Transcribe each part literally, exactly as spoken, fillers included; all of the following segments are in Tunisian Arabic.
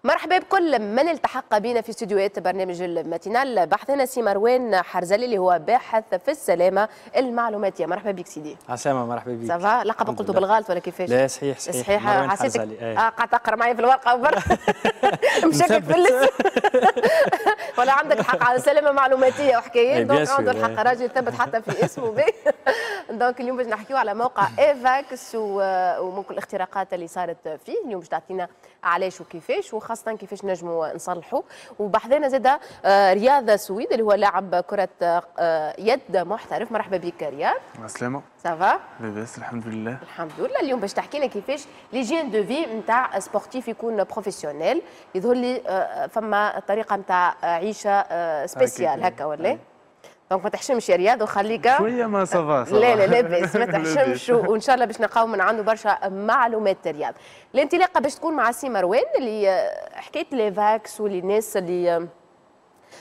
مرحبا بكل من التحق بنا في استديوهات برنامج الماتينال. بحثنا سي مروان حرزلي اللي هو باحث في السلامة المعلوماتيه. مرحبا بك سيدي. عسلامة، مرحبا بك. ça va؟ لقب قلته بالغلط ولا كيفاش؟ لا، صحيح صحيح. صحيح، حسيتك اه قاعد تقرا معي في الورقة وبر مشكك في الاسم، ولا عندك الحق على سلامه معلوماتيه وحكايات، donc عنده الحق راجل ثبت حتى في اسمه بي. donc اليوم باش نحكيو على موقع ايفاكس وممكن الاختراقات اللي صارت فيه. اليوم باش تعطينا علاش وكيفاش، وخاصة كيفاش نجموا نصلحوا. وبحذانا زاده آه، رياض سويد اللي هو لاعب كره آه، يد محترف. مرحبا بك رياض. السلامة. ça va؟ لاباس الحمد لله. الحمد لله. اليوم باش تحكي لنا كيفاش l'hygiène de vie نتاع sportif يكون professionnel. يظهر لي آه، فما طريقه نتاع عيشه spéciale هكا ولا؟ donc ما تحشمش يا رياض وخليك شوية ما ça va. لا لا، لاباس، ما تحشمش، وان شاء الله باش نلقاو من عنده برشا معلومات. رياض، الانطلاقة باش تكون مع سي مروان اللي حكاية l'Evax واللي الناس اللي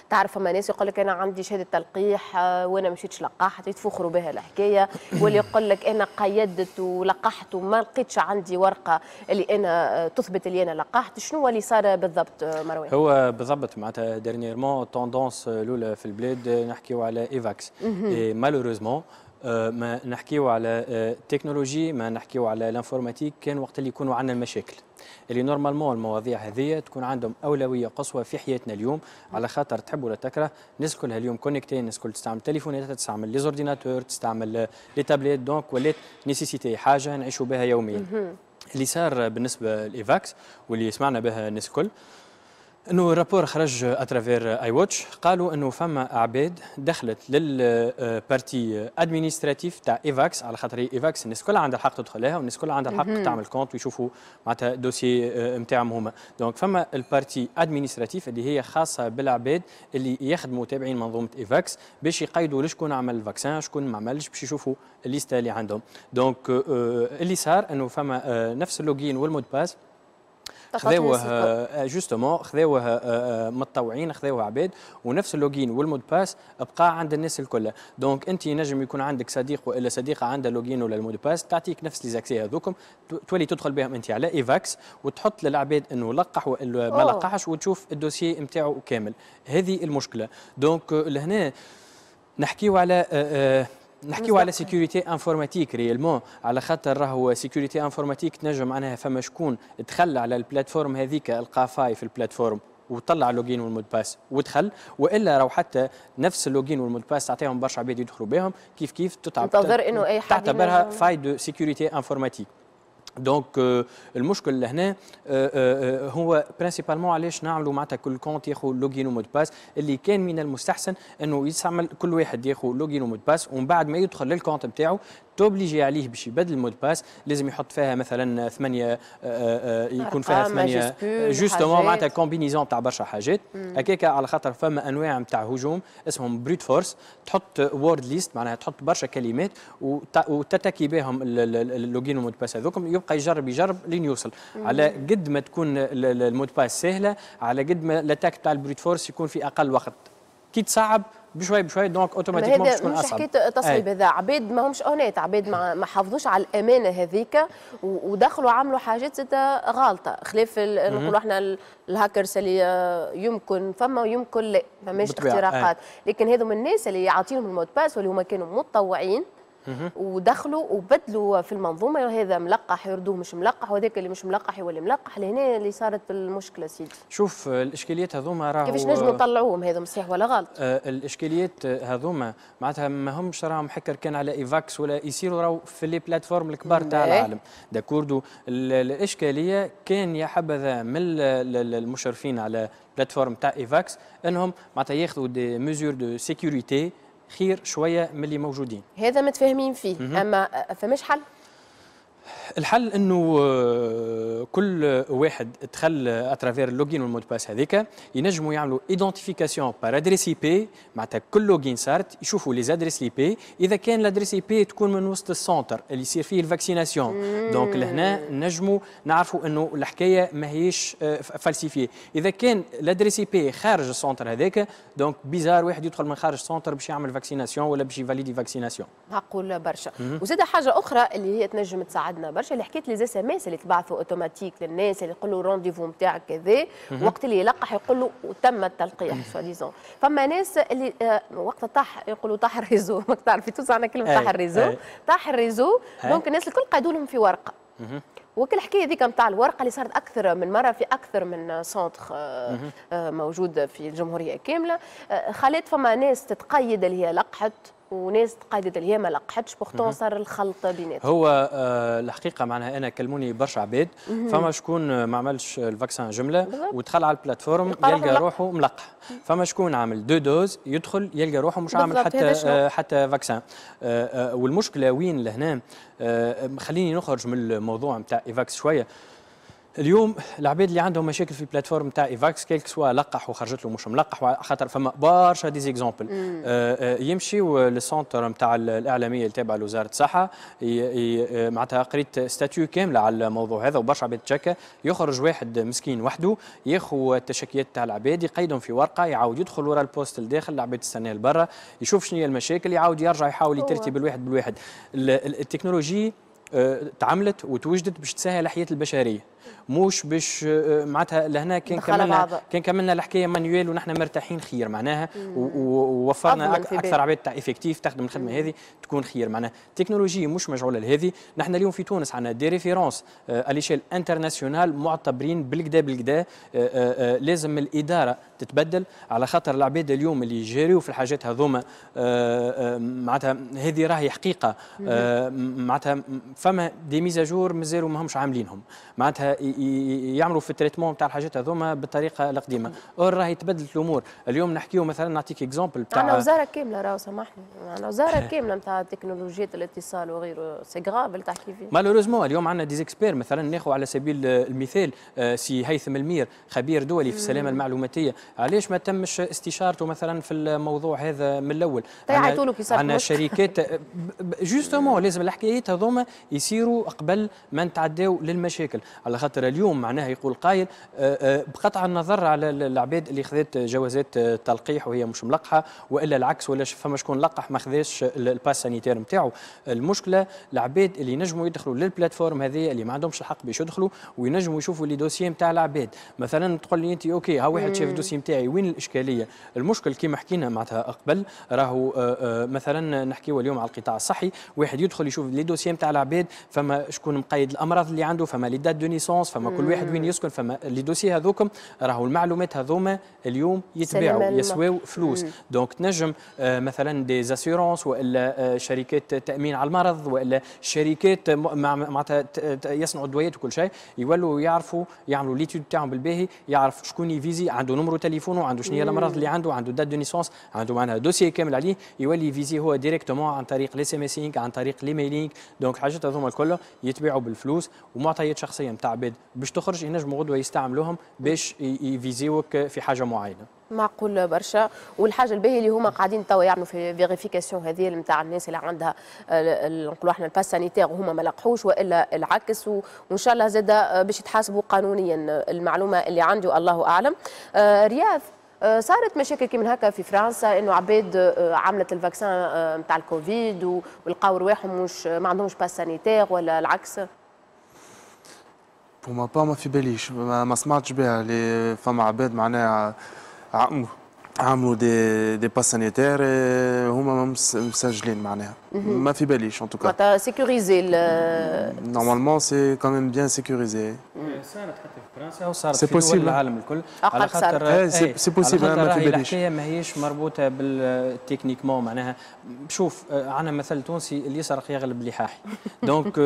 تعرف، فما ناس يقول لك انا عندي شهادة تلقيح آه، وانا مشيتش لقحت، يتفخروا بها الحكايه، واللي يقول لك انا قيدت ولقحت وما لقيتش عندي ورقة اللي انا آه، تثبت اللي انا لقحت. شنو هو اللي صار بالضبط آه، مروان؟ هو بالضبط معناتها dernièrement tendance الاولى في البلاد نحكيو على ايفاكس، malheureusement ما نحكيو على تكنولوجي، ما نحكيو على l'informatique كان وقت اللي يكونوا عندنا المشاكل. اللي normalement المواضيع هذه تكون عندهم اولوية قصوى في حياتنا اليوم، على خاطر تحب ولا تكره الناس كلها اليوم connectés، الناس الكل تستعمل تليفونات، تستعمل les ordinateurs، تستعمل les tablettes، donc ولات nécessité، حاجة نعيشوا بها يوميا. اللي صار بالنسبة لايفاكس واللي سمعنا بها الناس الكل انه rapport خرج à travers I Watch، قالوا انه فما اعباد دخلت لل partie administrative تاع ايفاكس، على خاطر ايفاكس الناس كلها عندها الحق تدخلها والناس كلها عندها الحق تعمل compte ويشوفوا معناتها dossier نتاعهم هما. donc فما ال partie administrative اللي هي خاصة بالعباد اللي يخدموا تابعين منظومة ايفاكس باش يقيدوا لشكون عمل ال vaccin، شكون ما عملش، باش يشوفوا ال liste اللي عندهم. donc اللي صار انه فما نفس ال login وال mot de passe خذاوه justement، خذاوه آه، متطوعين، خذاوه عباد، ونفس ال login وال mot de passe بقى عند الناس الكل. donc انت نجم يكون عندك صديق والا صديقه عندها login ولا ال mot de passe، تعطيك نفس les accès هذوكم، تولي تدخل بهم انت على ايفاكس وتحط للعباد انه لقح والا ما لقحش وتشوف ال dossier نتاعو كامل. هذه المشكله. donc لهنا نحكيو على آه، آه، نحكيو على sécurité informatique réellement، على خاطر راهو sécurité informatique تنجم معناها فما شكون دخل على ال plateforme هذيك، لقى faille في ال plateforme وطلع login وال mot de passe ودخل، والا راهو حتى نفس ال login وال mot de passe تعطيهم برشا عباد يدخلوا بهم كيف كيف. تنتظر انه اي حد تعتبرها faille de sécurité informatique. donc المشكل لهنا آه، آه، آه، هو principalement علاش نعملوا معناتها كل compte ياخذ login و mot de passe، اللي كان من المستحسن انه يستعمل كل واحد ياخذ login و mot de passe، ومن بعد ما يدخل لل compte نتاعو t'obliger عليه باش يبدل ال mot de passe، لازم يحط فيها مثلا ثمانيه، يكون فيها ثمانية justement، معناتها combinaison تاع برشا حاجات هكاك، على خاطر فما انواع نتاع هجوم اسمهم brute force، تحط word list، معناها تحط برشا كلمات وتتكي بهم ال login وال mot de passe هذوكم، يبقى يجرب يجرب لين يوصل. على قد ما تكون ال mot de passe سهله، على قد ما l'attaque تاع ال brute force يكون في اقل وقت. كي تصعب بشوي بشوي donc automatiquement باش تكون اصعب. مش حكاية تصعيب، هذا عباد ما همش honnêtes، عباد ما, ما حافظوش على الامانة هذيك ودخلوا عملوا حاجات زاد غالطه، خلاف نقولوا احنا الهاكرز اللي يمكن فما ويمكن لا فماش اختراقات، لكن هذو من الناس اللي يعطيهم ال mot de passe واللي هما كانوا متطوعين ودخلوا وبدلوا في المنظومه، هذا ملقح يردوه مش ملقح، وهذاك اللي مش ملقح يولي ملقح. لهنا اللي صارت المشكلة سيدي. شوف، الاشكاليات هذوما راهو كيفاش نجموا نطلعوهم هذا، صحيح ولا غلط؟ آه الاشكاليات هذوما معناتها ما همش راهم حكر كان على ايفاكس ولا يصيروا راهو في les plateformes الكبار تاع العالم، d'accord؟ الاشكالية كان يا حبذا من المشرفين على plateforme تاع ايفاكس انهم معناتها ياخذوا des mesures de sécurité خير شوية من اللي موجودين. هذا متفاهمين فيه، اما فماش حل؟ الحل انه آه، كل واحد دخل à travers ال login وال mot de passe هذيك ينجموا يعملوا identification par adresse IP، معناتها كل login صارت يشوفوا les adresses IP، اذا كان l'adresse IP تكون من وسط ال centre اللي يصير فيه ال vaccination، donc لهنا نجموا نعرفوا انه الحكاية ماهيش falsifiée. اذا كان l'adresse IP خارج ال centre هذاك، donc bizarre واحد يدخل من خارج ال centre باش يعمل vaccination ولا باش ي valider vaccination. معقول برشا. وزاد حاجة اخرى اللي هي تنجم تساعدنا. عندنا برشا اللي حكيت les SMS اللي تبعثوا اوتوماتيك للناس اللي يقولوا rendez-vous نتاعك كذا، وقت اللي يلقح يقول له تم التلقيح soi-disant. فما ناس اللي آه، وقت طاح يقولوا طاح ال réseau، ماك تعرف في تونس عندنا كلمة طاح ال réseau، طاح ال réseau، donc الناس الكل قعدوا لهم في ورقه. وكل الحكاية هذيك نتاع الورقة اللي صارت اكثر من مرة في اكثر من centre آه، آه، موجود في الجمهورية كامله، آه، خلت فما ناس تتقيد اللي هي لقحت وناس تقيدت اللي هي ما لقحتش، pourtant صار الخلط بيناتهم. هو آه الحقيقة معناها انا كلموني برشا عباد، فما شكون ما عملش ال vaccin جملة ودخل على ال plateforme يلقى روحه ملقح، فما شكون عامل deux doses يدخل يلقى روحه مش عامل حتى آه حتى vaccin. آه آه والمشكلة وين لهنا؟ آه خليني نخرج من الموضوع نتاع ايفاكس شويه. اليوم العباد اللي عندهم مشاكل في ال plateforme تاع ايفاكس، quel que soit لقح وخرجت له مش ملقح، خاطر فما برشا des exemples، آه، آه، يمشيو لل centre نتاع الاعلامية اللي تابعه لوزارة الصحه. معناتها قريت statut كاملة على الموضوع هذا وبرشا عباد تشكى. يخرج واحد مسكين وحده ياخذ التشكيات تاع العباد، يقيدهم في ورقه، يعاود يدخل ورا ال poste لداخل، العباد تستناه لبرا، يشوف شنو هي المشاكل، يعاود يرجع يحاول يترتي بالواحد بالواحد. التكنولوجي آه، تعملت وتوجدت باش تسهل حياة البشريه، مش باش آه، معناتها لهنا كان كملنا كان كملنا الحكاية manuel ونحن مرتاحين خير معناها، ووفرنا اكثر عباد تاع effectif تخدم الخدمة هذه تكون خير. معناها تكنولوجيا مش مجعوله لهذه. نحن اليوم في تونس عندنا des références à l'échelle internationale معتبرين بالقدا بالقدا. آه، لازم الادارة تتبدل، على خاطر العباد اليوم اللي يجريوا في الحاجات هذوما، معناتها هذه راهي حقيقه، معناتها فما des mises à jour مازالوا ماهمش عاملينهم، معناتها يعملوا في ال traitement تاع الحاجات هذوما بالطريقة القديمه. or راهي تبدلت الامور. اليوم نحكيو مثلا، نعطيك exemple تاع عندنا وزارة كامله، راهو سامحني، عندنا وزارة كاملة نتاع تكنولوجيا الاتصال وغيره، c'est grave اللي تحكي فيه. malheureusement اليوم عندنا des experts، مثلا ناخذ على سبيل المثال آه، سي هيثم المير، خبير دولي في السلامة المعلوماتيه، علاش ما تمش استشارته مثلا في الموضوع هذا من الاول؟ عندنا شركات justement، لازم الحكايات هذوما يصيروا قبل ما نتعداو للمشاكل، على خاطر اليوم معناها يقول قايل آه، آه، بقطع النظر على العباد اللي خذت جوازات تلقيح وهي مش ملقحة والا العكس، ولا فما شكون لقح ما خذاش ال pass sanitaire نتاعو، المشكلة العباد اللي ينجموا يدخلوا لل plateforme هذه، اللي ما عندهمش الحق باش يدخلوا وينجموا يشوفوا les dossiers نتاع العباد. مثلا تقول لي انت OK، ها واحد شاف ال dossier نتاعي، وين الاشكالية؟ المشكل كما حكينا معناتها قبل راهو آه، مثلا نحكيو اليوم على القطاع الصحي، واحد يدخل يشوف les dossiers نتاع العباد، فما شكون مقيد الامراض اللي عنده، فما les dates de naissance، فما كل واحد وين يسكن، فما les dossiers هذوكم. راهو المعلومات هذوما اليوم يتباعوا، يسواو فلوس. donc تنجم آه، مثلا des assurances والا آه، شركات تامين على المرض والا شركات معناتها يصنعوا الدويات وكل شيء، يولوا يعرفوا يعملوا l'étude تاعهم بالباهي، يعرف شكون يفيزي، عنده numéro تليفونه، عنده شنو هي الامراض اللي عنده، عنده date de naissance، عنده معناها dossier كامل عليه، يولي يفيزي هو directement عن طريق les SMS، عن طريق les mailings. donc الحاجات هذوما الكل يتباعوا بالفلوس، ومعطيات شخصية نتاع عباد باش تخرج، ينجموا غدوه يستعملوهم باش يفيزيوك في حاجة معينه. معقول برشا. والحاجة الباهيه اللي هما قاعدين توا يعملوا في vérification هذه نتاع الناس اللي عندها نقولوا احنا ال pass sanitaire وهما ما لقحوش والا العكس، وان شاء الله زاد باش يتحاسبوا قانونيا. المعلومة اللي عندي الله اعلم. آه، رياض، آه، صارت مشاكل كي من هكا في فرنسا، انه عباد آه، عملت ال vaccin نتاع الكوفيد ولقاو رواحهم مش ما عندهمش pass sanitaire ولا العكس؟ pour ma part ما في باليش، ما, ما سمعتش بها اللي فما عباد معناها عملوا des des pass sanitaires هما مسجلين، معناها ما في باليش en tout cas. معناتها sécurisé؟ normalement c'est quand même bien sécurisé. صارت حتى في فرنسا وصارت في دول العالم الكل. على خاطر c'est possible، ما في باليش. الحكاية ماهيش مربوطة بال techniquement. معناها شوف، عندنا مثل تونسي: اللي يسرق يغلب اللي حاحي. donc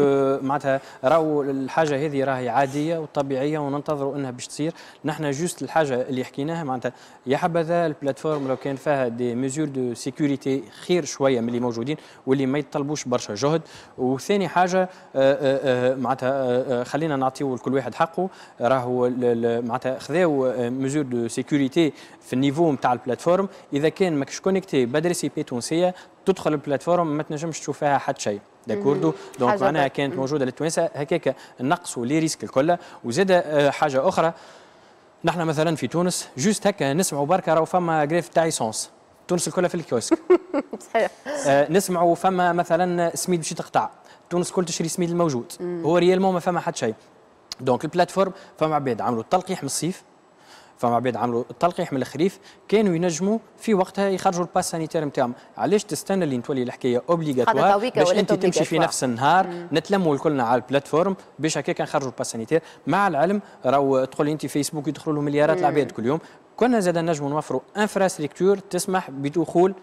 معناتها راهو الحاجة هذه راهي عادية وطبيعيه وننتظروا انها باش تصير. نحن juste الحاجة اللي حكيناها، معناتها يا حبذا ال plateforme لو كان فيها des mesures de sécurité خير شوية من اللي موجودين واللي ما يتطلبوش برشا جهد. وثاني حاجة آه، آه، آه، معناتها خلينا نعطيو لكل واحد حقه. راهو معناتها خذاو mesures de sécurité في ال niveau نتاع ال plateforme، اذا كان ماكش connecté ب adresse IP تونسية تدخل ال plateforme ما تنجمش تشوف فيها حتى شيء، d'accord؟ donc معناها كانت موجودة للتوانسه، هكاك نقصوا les risques الكل. وزاد حاجة اخرى، نحن مثلا في تونس juste هكا نسمعوا بركة راهو فما grève تاع essence، تونس الكل في الكيوسك. صحيح. آه نسمعوا فما مثلا سميد باش تقطع، تونس كل تشري سميد الموجود. مم. هو réellement ما فما حتى شيء. donc ال plateforme فما عباد عملوا التلقيح من الصيف، فما عباد عملوا التلقيح من الخريف، كانوا ينجموا في وقتها يخرجوا ال pass sanitaire نتاعهم. علاش تستنى اللي تولي الحكاية obligatoire باش انت تمشي في نفس النهار؟ نتلموا الكلنا على ال plateforme باش هكاك نخرجوا ال pass sanitaire. مع العلم راهو تقول انت فيسبوك يدخلوا له مليارات العباد كل يوم، كنا زاد نجموا نوفروا infrastructure تسمح بدخول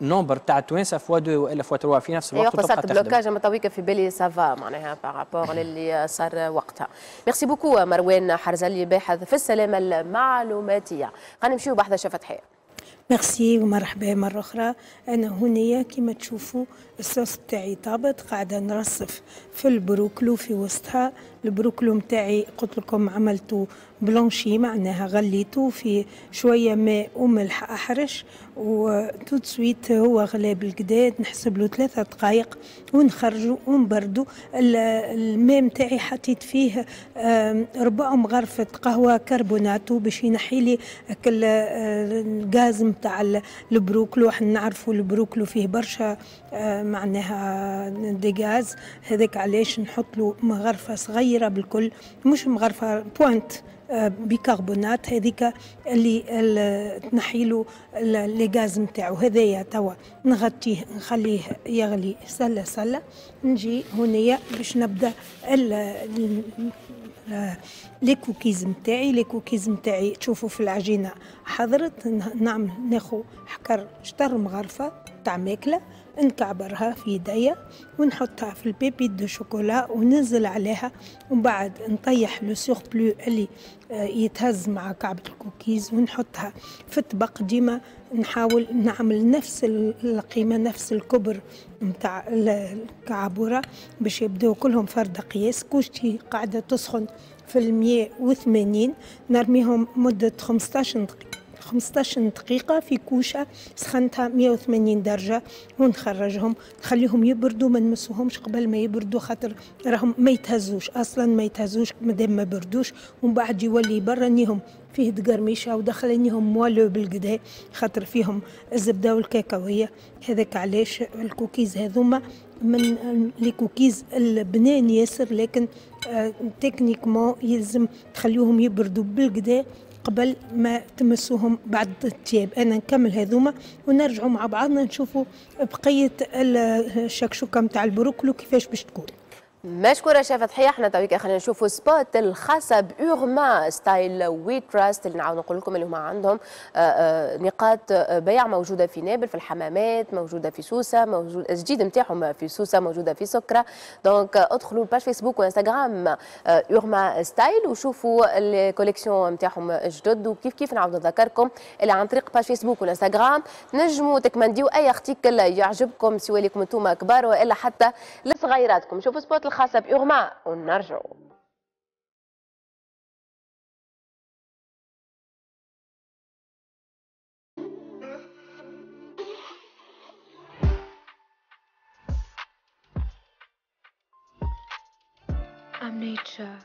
nombre تاع التوانسة fois deux والا fois trois في نفس الوقت. وقت صارت blocage اما تويكا في بالي ça va معناها par rapport للي صار وقتها. merci beaucoup مروان حرزلي باحث في السلامة المعلوماتيه. خلينا نمشيو بحث فتحيه. ميرسي ومرحبا مرة أخرى. أنا هنية كما تشوفوا الصوص بتاعي طابت، قاعدة نرصف في البروكلو في وسطها. البروكلو متاعي قلت لكم عملته blanchi، معناها غليته في شوية ماء وملح أحرش، و tout de suite هو غلا بالقداد، نحسب له ثلاثة دقائق ونخرجه ونبردو. الماء متاعي حطيت فيه ربع مغرفة قهوة كربوناتو باش ينحي لي الغاز متاع البروكلو. احنا نعرفوا البروكلو فيه برشا معناها des gaz، هذاك علاش نحط له مغرفة صغيرة بالكل، مش مغرفة pointe بيكربونات، هذيك اللي تنحي له les gaz نتاعو. هذايا توا نغطيه نخليه يغلي سله سله. نجي هنايا باش نبدا les cookies نتاعي. les cookies نتاعي تشوفوا في العجينة حضرت. نعمل ناخو حكر شطر مغرفه تاع ماكله، نكعبرها في يديا ونحطها في ال pépites de chocolat وننزل عليها، ومن بعد نطيح le surplus اللي يتهز مع كعبة الكوكيز ونحطها في الطبق. ديما نحاول نعمل نفس القيمة نفس الكبر نتاع الكعبورة باش يبداو كلهم فرد قياس. كوشتي قاعدة تسخن في المية وثمانين، نرميهم مدة خمسطاش دقيقة خمسطاش دقيقة في كوشة سخنتها مية وثمانين درجة، ونخرجهم نخليهم يبردوا، ما نمسوهمش قبل ما يبردوا خاطر راهم ما يتهزوش أصلا، ما يتهزوش مادام ما بردوش. ومن بعد يولي برانيهم فيه دقرميشة ودخلنيهم moelleux بالقدا خاطر فيهم الزبدة والكاكاوية. هذاك علاش الكوكيز هذوما من les cookies البنان ياسر، لكن آه techniquement يلزم تخليهم يبردوا بالقدا قبل ما تمسوهم بعد التياب. انا نكمل هذوما ونرجعوا مع بعضنا نشوفوا بقية الشكشوكه نتاع البروكلو كيفاش باش تكون. مشكورة شيف فتحية. احنا تويك خلينا نشوفوا spot الخاصة بأورما Style We Trust، اللي نعاود نقول لكم اللي هما عندهم نقاط بيع موجودة في نابل، في الحمامات، موجودة في سوسة، موجود الجديد نتاعهم في سوسة، موجودة في سكرة. donc ادخلوا ال page فيسبوك وانستغرام أورما Style وشوفوا ال collections نتاعهم الجدد. وكيف كيف نعاود نذكركم اللي عن طريق page فيسبوك وانستغرام تنجموا تكمنديو اي article يعجبكم، سواء لكم انتم كبار والا حتى لصغيراتكم. شوفوا spot الخاصة بأورما ونرجعوا. I'm nature.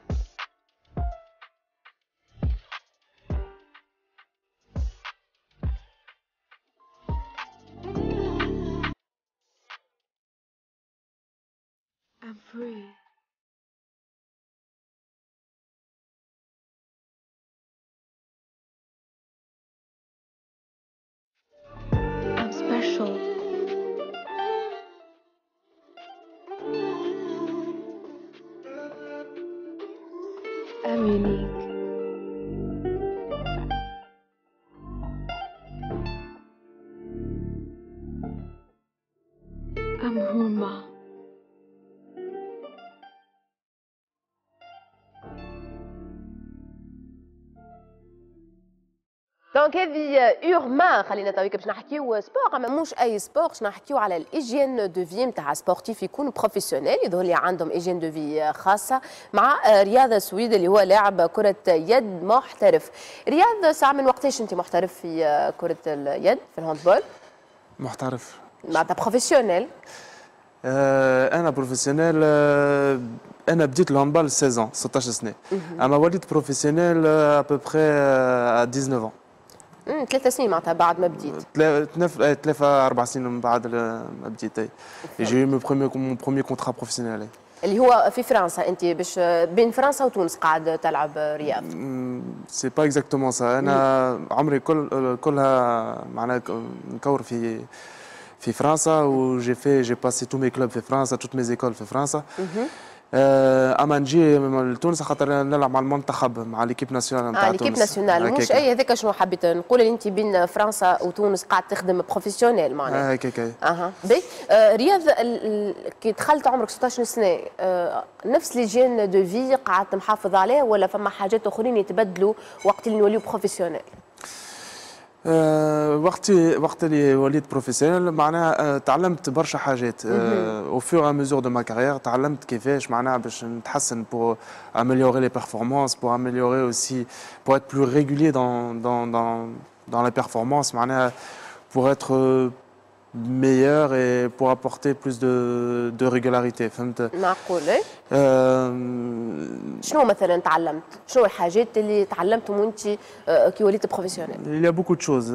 I'm free. I'm special. I'm unique. I'm Hurma. donc هذه اورما. خلينا تويك باش نحكيو sport، اما مش اي sport، باش نحكيو على ال hygiène de vie نتاع sportif يكون professionnel، يظهر لي عندهم hygiène de vie خاصة، مع رياض السويد اللي هو لاعب كره يد محترف. رياض، ساعة من وقتاش انت محترف في كره اليد في ال handball؟ محترف معناتها professionnel؟ آه انا professionnel. آه انا بديت ال handball ستة عشر ستاش سنة، اما وليت professionnel à peu près تسعطاش. ثلاث سنين معناتها بعد ما بديت. ثلاثة أربع سنين من بعد ما بديت. J'ai eu mon premier mon premier contrat professionnel. اللي هو في فرنسا، انت باش بين فرنسا وتونس قاعد تلعب رياض؟ c'est pas exactement ça. انا عمري كل كلها معناها نكور في في فرنسا و j'ai fait j'ai passé tous mes clubs في فرنسا، toutes mes écoles في فرنسا. اما نجي لتونس خاطر نلعب مع المنتخب، مع l'équipe nationale نتاع آه تونس. l'équipe nationale مش اي. هذاك شنو حبيت نقول، اللي انت بين فرنسا وتونس قاعد تخدم professionnel معناها. هكاك. اها، باهي آه رياض، كي دخلت عمرك ستاش سنه، آه نفس l'hygiène de vie قعدت محافظ عليه ولا فما حاجات اخرين يتبدلوا وقت اللي نوليو professionnel؟ أه وقت وقت اللي وليت professionnel معناها أه تعلمت برشا حاجات au fur et à mesure de ma carrière. تعلمت كيفاش معناها باش نتحسن pour améliorer les performances، pour améliorer aussi، pour être plus régulier dans dans dans dans la performance، معناها pour être meilleur et pour apporter plus de, de régularité، فهمت؟ معقول. أه شنو مثلا تعلمت؟ شنو الحاجات اللي تعلمتهم وانت كي وليت professionnel؟ Il y a beaucoup de choses.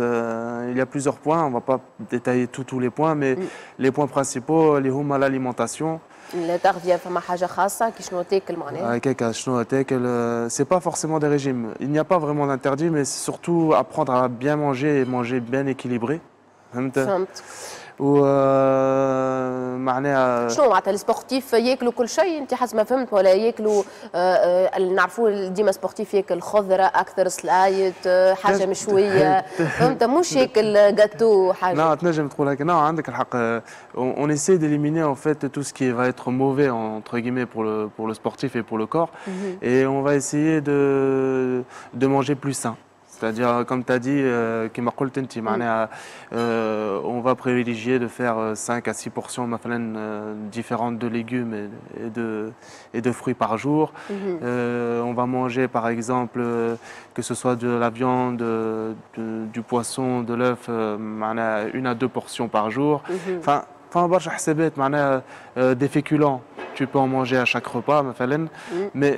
Il y a plusieurs points. On va pas détailler tous tous les points, mais mm. les points principaux اللي هما l'alimentation. التغذية، فما حاجة خاصة كي شنو تاكل معناها؟ هكاك، شنو تاكل، c'est pas forcément des régimes. Il n'y a pas vraiment d'interdit، mais c'est surtout apprendre à bien manger et manger bien équilibré. فهمت؟ فهمت. و معناها شنو معناتها ال sportifs ياكلوا كل شيء انت حسب ما فهمت، ولا ياكلوا آه، نعرفوا ديما sportif ياكل خضرة اكثر، سلايط، حاجة مشويه، فهمت؟ مش ياكل جاتو حاجه. نعم، تنجم تقول هكا، نعم عندك الحق. on essaie d'éliminer en fait tout ce qui va être mauvais entre guillemets pour le pour le sportif et pour le corps mm -hmm. et on va essayer de de manger plus sain. C'est-à-dire, comme tu as dit, كما قلت انت معناها on va privilégier de faire cinq à six portions مثلا différentes de légumes et de, et de fruits par jour. Mm -hmm. euh, on va manger par exemple que ce soit de la viande, de, du poisson, de l'œuf، معناها une à deux portions par jour. Mm -hmm. Enfin, enfin برشا حسابات، معناها des féculents tu peux en manger à chaque repas مثلا، mais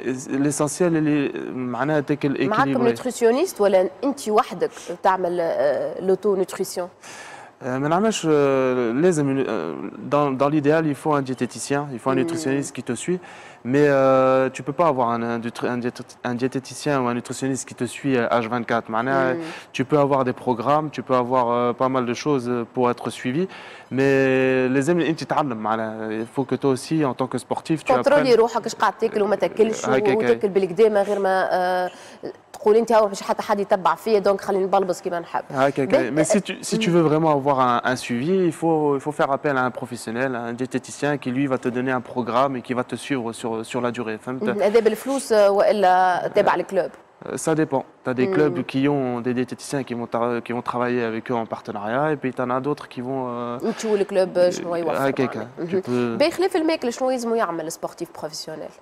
l'essentiel اللي معناها تاكل équilibré. معاكم nutritionniste ولا انت وحدك تعمل l'auto-nutrition؟ ما نعملش، لازم dans, dans l'idéal il faut un diététicien، il faut un nutritionniste qui te suit، mais euh, tu peux pas avoir un, un, un, un diététicien ou un nutritionniste qui te suit H vingt-quatre. معناها tu peux avoir des programmes، tu peux avoir euh, pas mal de choses pour être suivi، mais لازم انت تتعلم، معناها il faut que toi aussi en tant que sportif tu contrôler روحك ايش قاعد تاكل وما تاكلش، وتاكل بالقدا من غير ما تقول انت هاو باش حتى حد يتبع فيا، donc خليني نبلبز كيما نحب. هكاك، mais si tu, si tu veux vraiment avoir un, un suivi، il faut, il faut faire appel à un professionnel، un diététicien qui lui va te donner un programme et qui va te suivre sur, sur la durée. فهمت؟ هذا بالفلوس والا تابع ال club؟ Ça dépend. Tu as des mm. clubs qui ont des diététiciens qui vont, qui vont travailler avec eux en partenariat et puis tu en as d'autres qui vont. انت وال club شنو يوفر. هكاك. بخلاف الماكلة شنو يلزمو يعمل sportif professionnel؟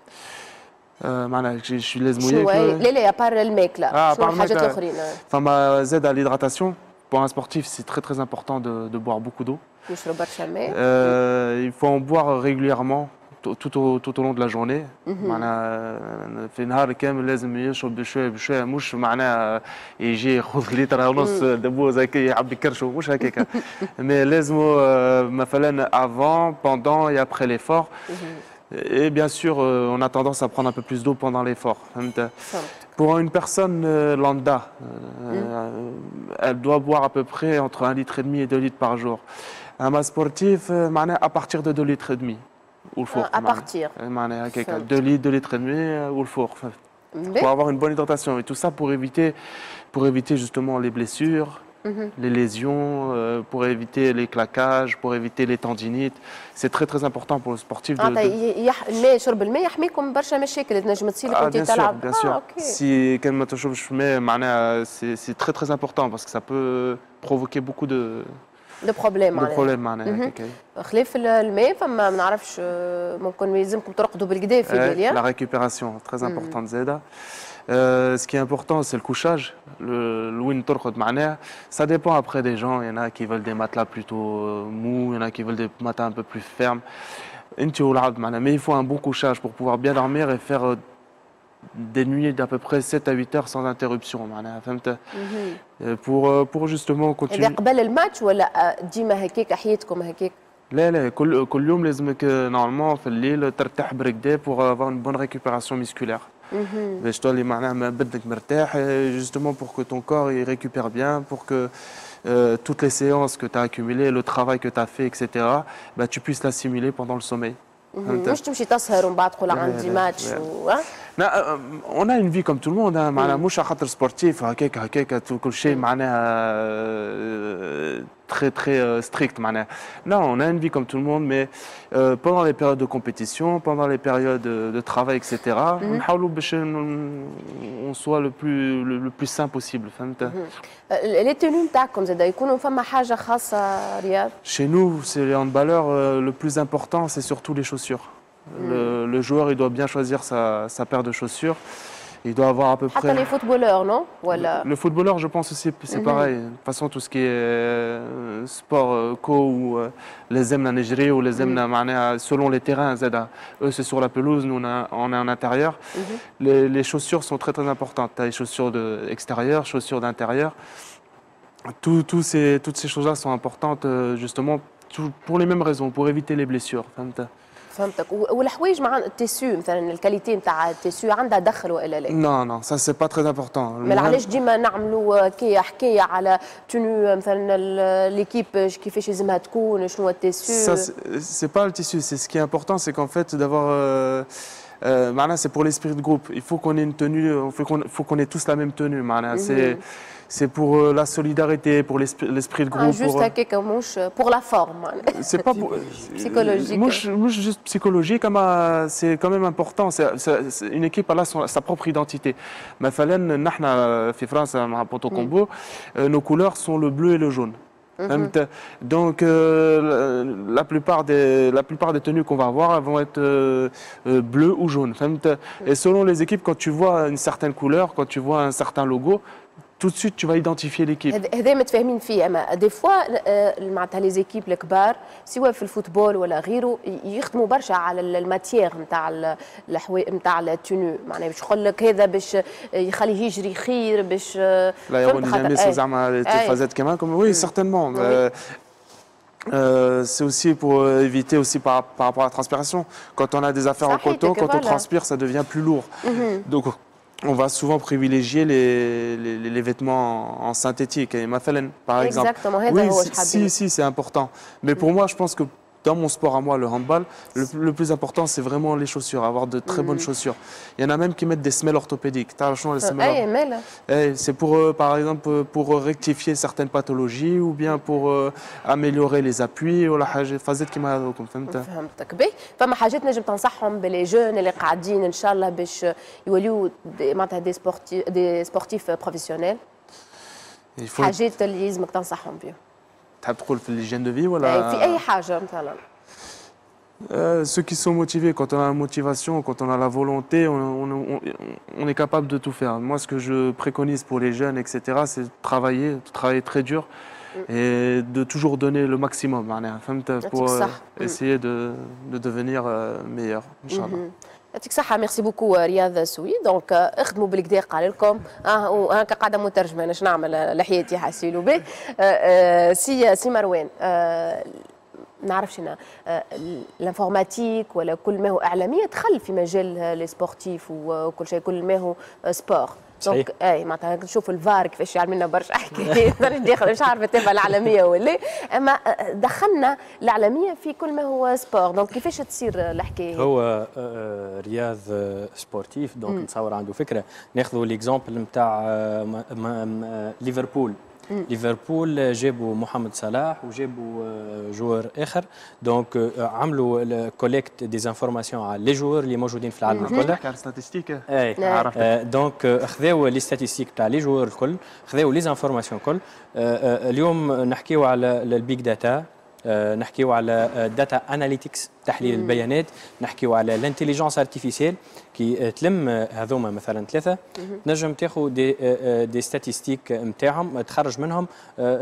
معناها شو لازم ياكل؟ لا لا، à part الماكله، آه شنو الحاجات الاخرين؟ فما زاد l'hydratation. Pour un sportif، c'est très très important de, de boire beaucoup d'eau. يشرب برشا ماء. Euh, il faut en boire régulièrement tout au, tout au long de la journée. معناها في نهار كامل لازم يشرب بشوية بشويه، مش معناها يجي ياخذ لتر ونص دبوز هكا يعبي كرشه، مش هكاك، mais لازم مثلا avant، pendant et après l'effort. Et bien sûr، euh, on a tendance à prendre un peu plus d'eau pendant l'effort. Pour une personne euh, lambda، euh, elle doit boire à peu près entre un litre et demi et deux litres par jour. Un sportif، معناها à partir de deux litres et demi. والفوق. À partir. معناها هكاك deux litres، deux litres et demi والفوق. Pour avoir une bonne hydratation et tout ça pour éviter pour éviter justement les blessures، les lésions، euh, pour éviter les claquages، pour éviter les tendinites. C'est très très important pour le sportif de, de... الماء، شرب الماء يحميكم برشا مشاكل تنجم تصير لك وانت تلعب. Bien sûr. Si كان ما تشربش ماء معناها c'est c'est très très important parce que ça peut provoquer beaucoup de de problèmes. de problèmes معناها. خلاف الماء فما ما نعرفش، ممكن يلزمكم ترقدوا بالقدا في الليل. La récupération très importante زاده. Euh, ce qui est important، c'est le couchage. Le الوين ترقد معناها. Ça dépend après des gens. Il y en a qui veulent des matelas plutôt mous، il y en a qui veulent des matelas un peu plus fermes. انت والعبد معناها. Mais il faut un bon couchage pour pouvoir bien dormir et faire des nuits d'à peu près sept à huit heures sans interruption معناها، فهمت، pour pour justement continuer. هذا قبل الماتش ولا ديما هكاك حياتكم هكاك؟ لا لا، كل كل يوم لازمك normalement في الليل ترتاح بركدا pour avoir une bonne récupération musculaire، باش تولي معناها بدنك مرتاح، justement pour que ton corps il récupère bien، pour que euh, toutes les séances que tu as accumulées، le travail que tu as fait، et cetera، bah, tu puisses l'assimiler pendant le sommeil. مش تمشي تسهر ومن بعد تقول عندي ماتش و on a une vie comme tout le monde، معناها مش على خاطر sportif هكاك هكاك كل شيء معناها très très euh, strict معناها. Non، on a une vie comme tout le monde، mais euh, pendant les périodes de compétition، pendant les périodes de, de travail، et cetera، نحاولوا باش on soit le plus le, le plus sain possible، فهمت؟ les tenues نتاعكم زاد يكونوا فما حاجة خاصه، رياض؟ Chez nous، c'est les handballeurs، euh, le plus important، c'est surtout les chaussures. Le, le joueur، il doit bien choisir sa, sa paire de chaussures. Il doit avoir à peu près. حتى les footballeurs، non؟ ولا Le footballeur، je pense aussi، c'est pareil. De toute façon، tout ce qui est euh, sport euh, co ou euh, لازمنا نجري ولازمنا معناها selon les terrains زادا. Eux، c'est sur la pelouse، nous on, a, on est en intérieur. Les, les chaussures sont très très importantes. Tu as les chaussures de extérieures، chaussures d'intérieur. Tout, tout ces, toutes ces choses-là sont importantes euh, justement tout- pour les mêmes raisons، pour éviter les blessures. فهمت؟ فهمتك. والحوايج مع ال tissu مثلا، ال qualité نتاع ال tissu عندها دخل والا لا؟ Non، non، ça c'est pas très important. ما علاش ديما نعملوا كي حكاية على tenue مثلا l'équipe كيفاش لازمها تكون، شنو ال tissu؟ Ça c'est pas le tissu، c'est ce qui est important، c'est qu'en fait d'avoir euh, euh, معناها c'est pour l'esprit de groupe. Il faut qu'on ait une tenue، il faut qu'on faut qu'on ait tous la même tenue. معناها c'est c'est pour euh, la solidarité، pour l'esprit de groupe. Ah، juste هكاك مش pour la forme؟ C'est pas pour psychologique. مش مش juste psychologique، اما c'est quand même important. C'est une équipe، elle a son, sa propre identité. مثلا نحن في فرنسا مع Ponto Combo، nos couleurs sont le bleu et le jaune. Donc euh, la plupart des la plupart des tenues qu'on va avoir، elles vont être euh, euh, bleues ou jaunes. Et selon les équipes، quand tu vois une certaine couleur، quand tu vois un certain logo، tout de suite tu vas identifier l'équipe. هذا متفاهمين فيه، اما des fois معناتها les équipes الكبار، سواء في ال football ولا غيره، يخدموا برشا على ال matière نتاع الحوايج نتاع ال tenue، معناها باش يقول لك هذا باش يخليه يجري خير، باش l'aérodynamisme زعما، فازات كمان، oui، certainement. Euh, c'est aussi pour éviter aussi par, par rapport à la transpiration. Quand on a des affaires en coton، quand on transpire، ça devient plus lourd. Mm -hmm. Donc on va souvent privilégier les, les, les vêtements en synthétique. Et مثلا، par exemple. Exactement. Oui، si, si، c'est important. Mais pour moi، je pense que dans mon sport à moi، le handball، le, le plus important، c'est vraiment les chaussures، avoir de très bonnes chaussures. Il y en a même qui mettent des semelles orthopédiques. Les semelles. C'est pour, euh, par exemple، pour rectifier certaines pathologies ou bien pour euh, améliorer les appuis ولا حاجة فازت كيما هذوكم، فهمت؟ فهمتك. باهي، فما حاجات نجم تنصحهم ب les jeunes اللي قاعدين ان شاء الله باش يوليو معناتها des sportifs des sportifs professionnels، حاجات اللي لازمك تنصحهم بهم؟ تحب تقول في l'hygiène de vie ولا في اي حاجة مثلا؟ Euh, ceux qui sont motivés، quand on a la motivation، quand on a la volonté، on, on- on- on est capable de tout faire. Moi، ce que je préconise pour les jeunes، et cetera، c'est de travailler، de travailler très dur et de toujours donner le maximum، معناها، فهمت، pour euh, صح. essayer de, de devenir euh, meilleur، إن شاء الله. يعطيك الصحة، merci beaucoup رياض سوي. donc اخدموا بالقدا قال لكم، اه وهكا قاعدة مترجمة، انا نعمل لحيتي حاسيلو به. آه، آه، سي سي مروان، آه، نعرفش انا l'informatique ولا كل ما هو اعلامية دخل في مجال les sportifs وكل شيء، كل ما هو sport. صحيح. donc اي معناتها نشوف الفار كيفاش يعمل لنا برشا حكايات، مانيش داخل، مش عارفه تبع الاعلامية ولا، اما دخلنا الاعلامية في كل ما هو sport، donc كيفاش تصير الحكاية؟ هو آه، رياض آه، sportif، donc نتصور عنده فكره. ناخذوا l'exemple نتاع ليفربول. ليفربول جابوا محمد صلاح وجابوا آه، joueur اخر، donc آه، عملوا collecte des informations على les joueurs اللي موجودين في العالم الكل. تحكي على statistiques؟ اي. عرفت. آه، donc آه، خذاو les statistiques تاع les joueurs الكل، خذاو les informations الكل. آه، آه، اليوم نحكيو على ال big data، نحكيو على data analytics. تحليل مم. البيانات، نحكيو على ال intelligence artificielle. كي تلم هذوما مثلا ثلاثة تنجم تاخذ des des statistiques نتاعهم، تخرج منهم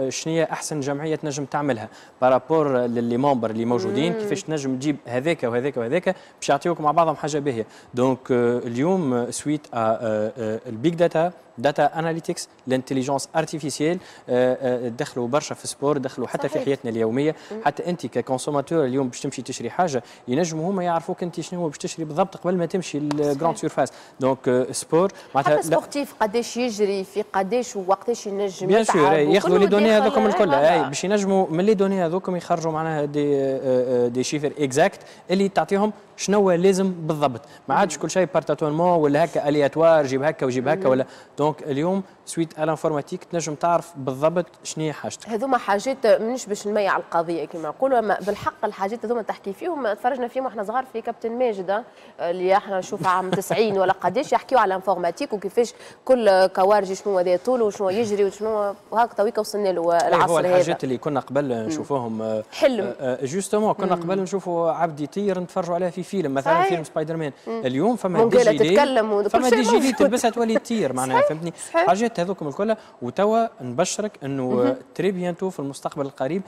شنو هي احسن جمعية تنجم تعملها par rapport ل les membres اللي موجودين، كيفاش تنجم تجيب هذاك وهذاك وهذاك باش يعطيوك مع بعضهم حاجة باهيه. donc اليوم suite ال big data، data analytics، l'intelligence artificielle دخلوا برشا في ال sport، دخلوا حتى صحيح. في حياتنا اليومية. مم. حتى انت ك consommateur اليوم باش تمشي تشري حاجة ينجموا هما يعرفوك انت شنو هو باش تشري بالضبط قبل ما تمشي لل grande surface. donc sport معناتها حتى sportif قداش يجري في قداش ووقتاش ينجم bien sûr ياخذوا les données هذوكم الكل، اي باش ينجموا من les données هذوكم يخرجوا معناها des des chiffres exacts اللي تعطيهم شنو لازم بالضبط. ما عادش كل شيء par tâtonnement ولا هكا aléatoire، جيب هكا وجيب هكا ولا. donc اليوم suite à l'informatique تنجم تعرف بالضبط شنو هي حاجتك. هذوما حاجات مانيش باش نميع القضية كما نقولوا، اما بالحق الحاجات هذوما تحكي فيهم تفرجنا فيهم واحنا صغار في كابتن ماجد اللي احنا نشوف عام تسعين ولا قداش يحكيوا على l'informatique وكيفاش كل كوارجي شنو هذا طوله وشنو يجري وشنو وهكا تويكا وصلنا له العصر هذا. الحاجات اللي كنا قبل نشوفوهم حلم justement، كنا قبل نشوفوا عبد يطير نتفرجوا عليها في فيلم مثلا فيلم سبايدر مان. اليوم فما des gilets تتكلم، فما des gilets تلبسها تولي تطير معناها، فهمتني؟ حاجات هذوكم الكل. وتوا نبشرك انه très bientôt في المستقبل القريب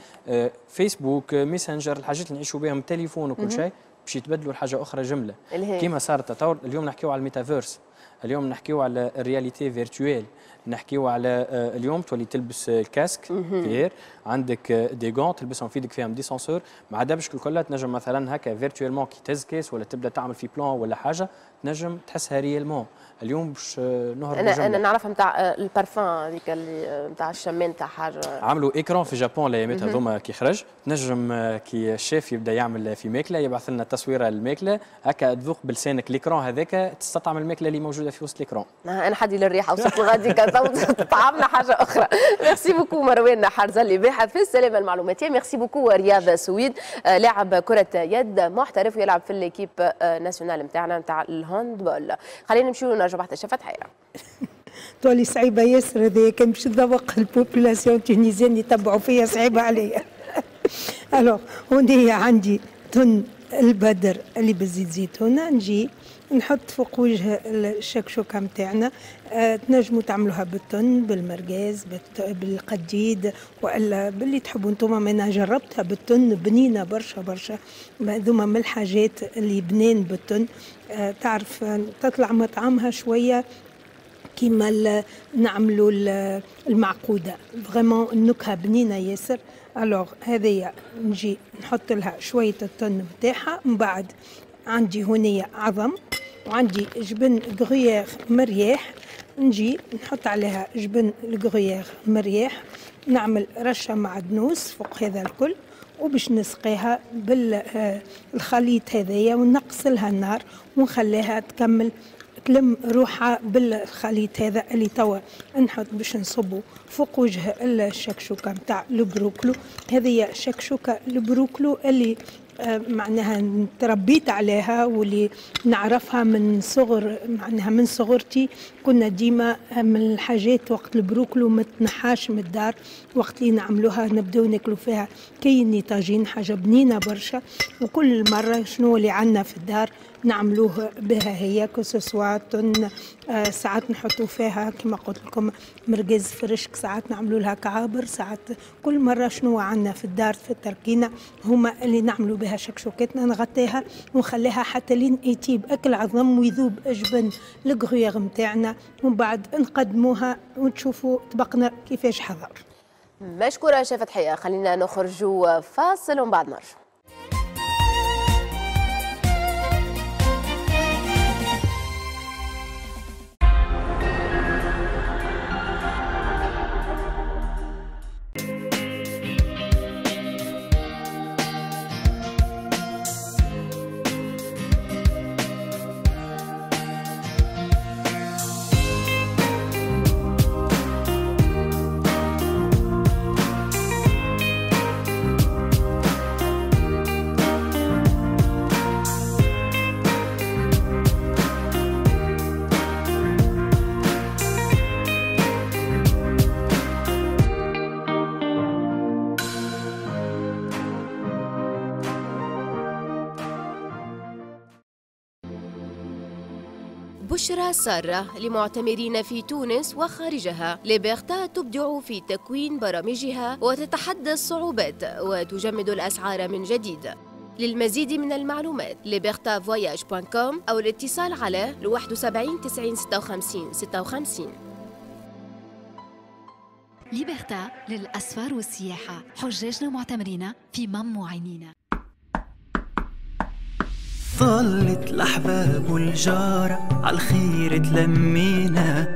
فيسبوك، ميسنجر، الحاجات اللي نعيشوا بهم، التليفون وكل شيء باش يتبدلوا لحاجة اخرى جملة. كيما صار التطور اليوم نحكيو على الميتافيرس، اليوم نحكيو على ال réalité virtuelle، نحكيو على اليوم تولي تلبس ال casque VR، عندك des gants تلبسهم في يدك فيهم des senseurs مع دبشك الكل، تنجم مثلا هكا virtuellement كي تهز كيس ولا تبدا تعمل في plan ولا حاجة تنجم تحسها réellement. اليوم باش نهرب انا انا نعرفها نتاع البارفان هذيك اللي نتاع الشمان نتاع حاجة. عملوا écran في Japon الايامات هذوما كي خرج، تنجم كي الشيف يبدا يعمل في ماكله يبعث لنا تصويره الماكلة هكا تذوق بلسانك l'écran هذاك، تستطعم الماكلة اللي موجودة في وسط l'écran. انا حدي للريحه وصلت غادي طعمنا حاجة اخرى. merci beaucoup مروان حرزلي باحث في السلامة المعلوماتيه. merci beaucoup رياض سويد لاعب كره يد محترف ويلعب في l'équipe nationale نتاعنا نتاع ال handball. خلينا نمشيو ونرجعوا بعد الشيف فتحيه. تولي صعيبة ياسر هذايا كان باش تذوق ال population tunisienne يتبعوا فيا صعيبة عليا. alors هوني عندي تن البدر اللي بالزيت زيتونه، نجي نحط فوق وجه الشكشوكه نتاعنا. أه تنجموا تعملوها بالتن، بالمرقاز، بالقديد، والا باللي تحبوا انتم. انا جربتها بالتن بنينه برشا برشا، هذوما من الحاجات اللي بنين بالتن. أه تعرف تطلع مطعمها شوية كيما نعملوا المعقوده، vraiment النكهة بنينه ياسر. alors هذيا نجي نحط لها شوية التن نتاعها. من بعد عندي هنية عظم وعندي جبن gruyère مرياح، نجي نحط عليها جبن ال gruyère مرياح، نعمل رشه معدنوس فوق هذا الكل، وباش نسقيها بالخليط هذايا ونقص لها النار ونخليها تكمل تلم روحها بالخليط هذا اللي توا نحط باش نصبو فوق وجه الشكشوكه نتاع البروكلو. هذه شكشوكه البروكلو اللي معناها تربيت عليها واللي نعرفها من صغر، معناها من صغرتي كنا ديما من الحاجات وقت البروكلو ما تنحاش من الدار، وقت اللي نعملوها نبداو ناكلو فيها كاين طاجين، حاجة بنينه برشا. وكل مرة شنو اللي عندنا في الدار نعملوه بها هي، que ce soit تن، آه ساعات نحطوا فيها كما قلت لكم مرقز فرشك، ساعات نعملوا لها كعابر، ساعات كل مرة شنو عندنا في الدار في التركينه هما اللي نعملوا بها شكشوكتنا. نغطيها ونخليها حتى لين يطيب اكل عظم ويذوب جبن ال gruyère نتاعنا، ومن بعد نقدموها ونشوفوا طبقنا كيفاش حضر. مشكورة شيف فتحيه، خلينا نخرجوا فاصل ومن بعد نرجع. بشرى سارة لمعتمرين في تونس وخارجها. ليبرتا تبدع في تكوين برامجها وتتحدى الصعوبات وتجمد الأسعار من جديد. للمزيد من المعلومات ليبرتا voyages point com أو الاتصال على واحد وسبعين تسعين ستة وخمسين ستة وخمسين. ليبرتا للأسفار والسياحة، حجاجنا ومعتمرينا في مم عينينا. طلت الأحباب والجارة عالخير تلمينا،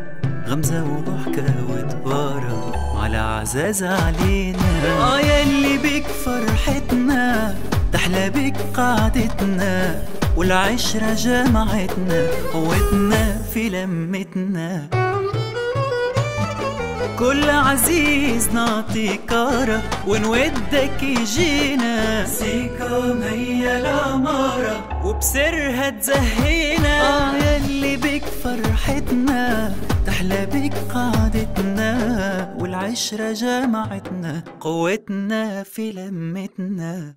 غمزة وضحكة وتبارة على عزاز علينا. آه يلي بك فرحتنا تحلى بك قعدتنا، والعشرة جمعتنا قوتنا في لمتنا. كل عزيز نعطي كارة ونودك يجينا، سيكام هي العمارة وبسرها تزهينا. آه يلي بك فرحتنا تحلى بك قعدتنا، والعشرة جمعتنا قوتنا في لمتنا.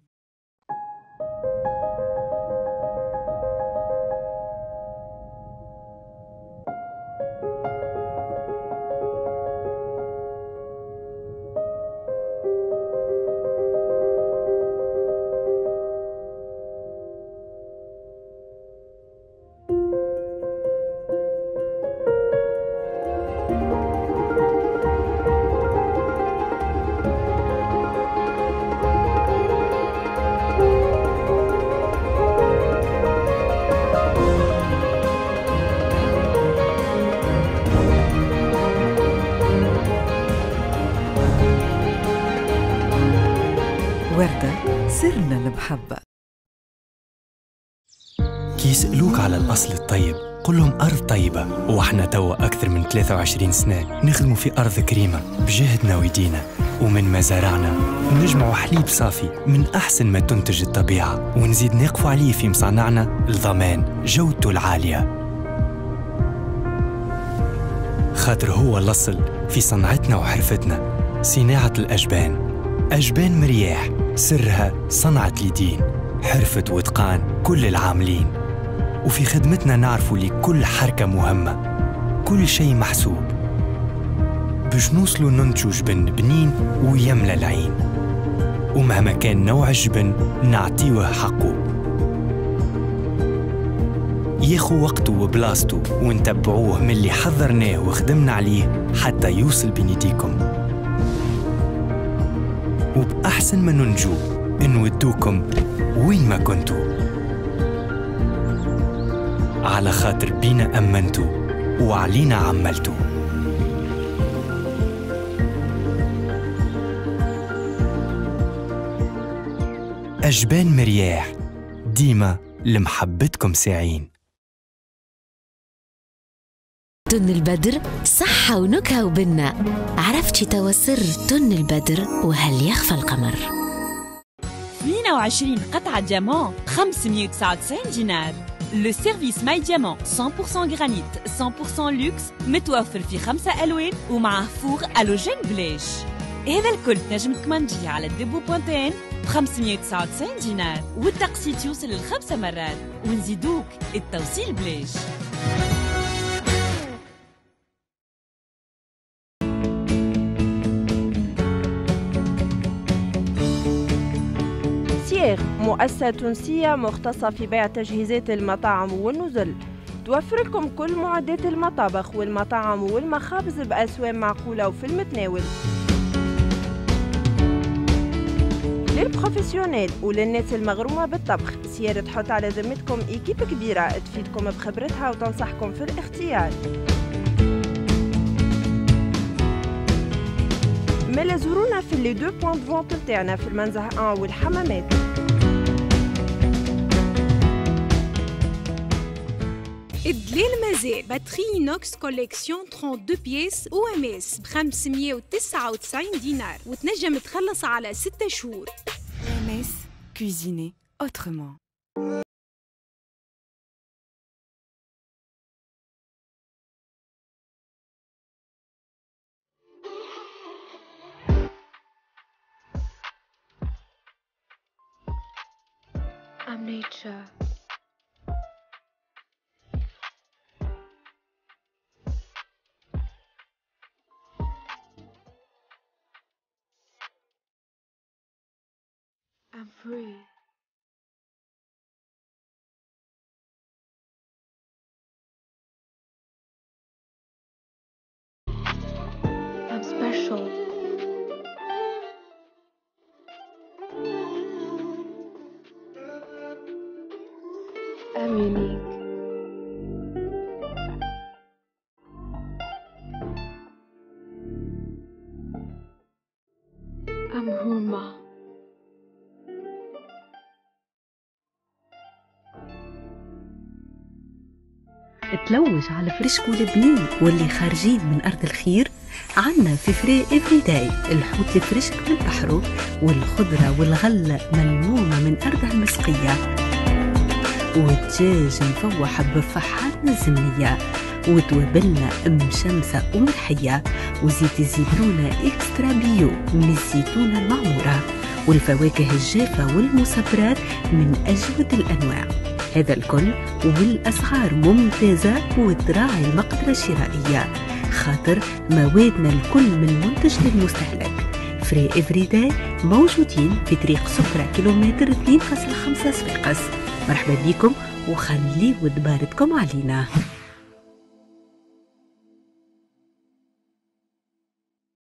وردة سرنا المحبة. كي يسألوك على الأصل الطيب قل لهم أرض طيبة، وإحنا توا أكثر من ثلاثة وعشرين سنة نخدموا في أرض كريمة بجهدنا ويدينا، ومن مزارعنا نجمعوا حليب صافي من أحسن ما تنتج الطبيعة، ونزيد نقفوا عليه في مصانعنا لضمان جودته العالية، خاطر هو الأصل في صنعتنا وحرفتنا. صناعة الأجبان، أجبان مرياح سرها صنعة اليدين، حرفة وإتقان كل العاملين، وفي خدمتنا نعرفوا لكل حركة مهمة، كل شيء محسوب باش نوصلوا ننتجوا جبن بنين ويملى العين، ومهما كان نوع الجبن نعطيوه حقه، ياخو وقته وبلاصته، ونتبعوه من اللي حضرناه وخدمنا عليه حتى يوصل بين يديكم. وبأحسن ما ننجو نودوكم وين ما كنتوا، على خاطر بينا أمنتوا وعلينا عملتوا. أجبان مرياح، ديما لمحبتكم ساعين. تن البدر صحة ونكهة وبنة، عرفتي توا سر تن البدر وهل يخفى القمر؟ اثنين وعشرين قطعة diamant خمسمية وتسعة وتسعين دينار. le service My Diamant مية بالمية جرانيت مية بالمية لوكس، متوفر في خمسة ألوان ومعه four halogène بلاش. هذا الكل تنجم تكمانديه على ديبو point tn ب خمسمية وتسعة وتسعين دينار، والتقسيط يوصل لخمسة مرات، ونزيدوك التوصيل بلاش. مؤسسة تونسية مختصة في بيع تجهيزات المطاعم والنزل، توفر لكم كل معدات المطابخ والمطاعم والمخابز بأسواق معقولة وفي المتناول. لل professionnels وللناس المغرومة بالطبخ، سيارة تحط على ذمتكم équipe كبيرة تفيدكم بخبرتها وتنصحكم في الاختيار. مالا زورونا في les deux points de vente تاعنا في المنزه واحد والحمامات. الدليل مازال batterie inox collection اثنين وثلاثين pièces OMS ب خمسمية وتسعة وتسعين دينار، وتنجم تخلص على ستة شهور. OMS, cuisiner autrement. I'm nature. I'm free. I'm special. I'm unique. I'm Huma. تلوج على فريشك والبنين واللي خارجين من أرض الخير. عنا في Frais Everyday الحوت الفريشك من بحره، والخضرة والغلة ملمومة من أرضها المسقية، والدجاج مفوح بفحاتنا الزمنية، وتوابلنا مشمسة وملحية، وزيت الزيتونة extra bio من الزيتونة المعمورة، والفواكه الجافة والمصبرات من أجود الأنواع. هذا الكل والأسعار ممتازة وتراعي المقدرة الشرائية، خاطر موادنا الكل من منتج للمستهلك. Frais Everyday موجودين في طريق سكرة كيلومتر اثنين فاصلة خمسة صفاقس. مرحبا بكم وخليوا دبارتكم علينا.